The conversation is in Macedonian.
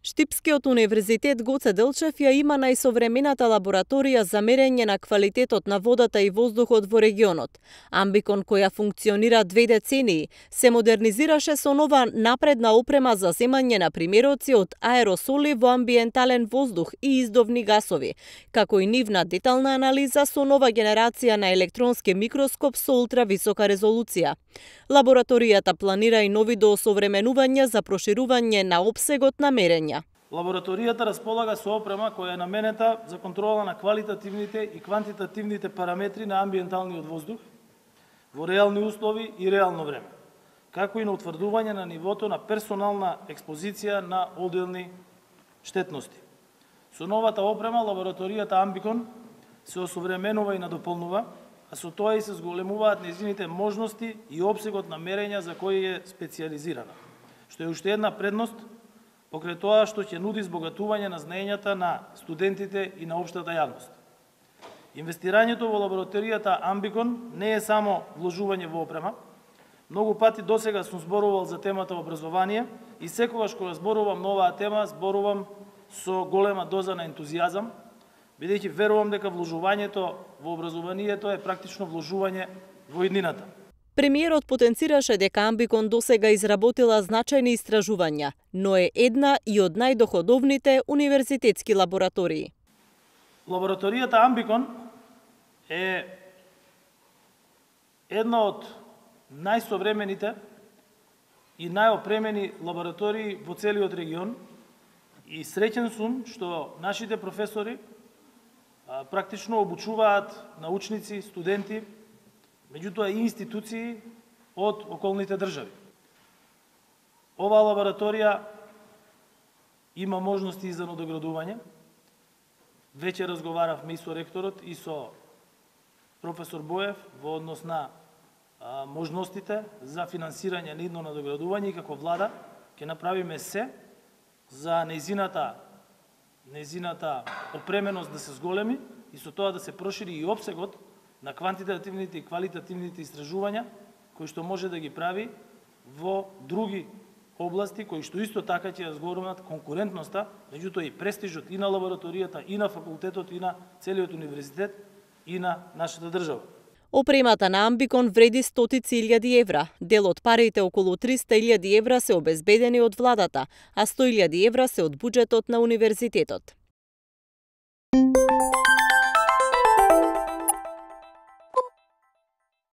Штипскиот универзитет Гоце Делчев ја има најсовремената лабораторија за мерење на квалитетот на водата и воздухот во регионот. Амбикон, која функционира 2 децении, се модернизираше со нова напредна опрема за земање на примероци од аеросоли во амбиентален воздух и издовни гасови, како и нивна детална анализа со нова генерација на електронски микроскоп со ултрависока резолуција. Лабораторијата планира и нови доосовременувања за проширување на опсегот на мерења. Лабораторијата располага со опрема која е наменета за контрола на квалитативните и квантитативните параметри на амбиенталниот воздух во реални услови и реално време, како и на утврдување на нивото на персонална експозиција на одделни штетности. Со новата опрема лабораторијата Амбикон се осовременува и надополнува, а со тоа и се зголемуваат нејзините можности и опсегот на мерења за кои е специјализирана, што е уште една предност покрај тоа што ќе нуди збогатување на знаењата на студентите и на општата јавност. Инвестирањето во лабораторијата Амбикон не е само вложување во опрема. Многу пати досега сум зборувал за темата образование и секогаш кога зборувам на оваа тема, зборувам со голема доза на ентузијазам, бидејќи верувам дека вложувањето во образованието е практично вложување во иднината. Премиерот потенцираше дека Амбикон досега изработила значајни истражувања, но е една и од најдоходовните универзитетски лаборатории. Лабораторијата Амбикон е една од најсовремените и најопремени лаборатории во целиот регион и среќен сум што нашите професори практично обучуваат научници, студенти, меѓутоа и институции од околните држави. Оваа лабораторија има можности и за надоградување. Веќе разговаравме и со ректорот и со професор Боев во однос на можностите за финансирање на идно надоградување и како влада ќе направиме се за нејзината опременост да се зголеми и со тоа да се прошири и опсегот на квантитативните и квалитативните истражувања кои што може да ги прави во други области кои што исто така ќе ја зголемат конкурентноста, меѓутоа и престижот и на лабораторијата, и на факултетот, и на целиот универзитет, и на нашата држава. Опремата на Амбикон вреди стотици илјади евра. Дел од парите, околу 300.000 евра, се обезбедени од владата, а 100.000 евра се од буџетот на универзитетот.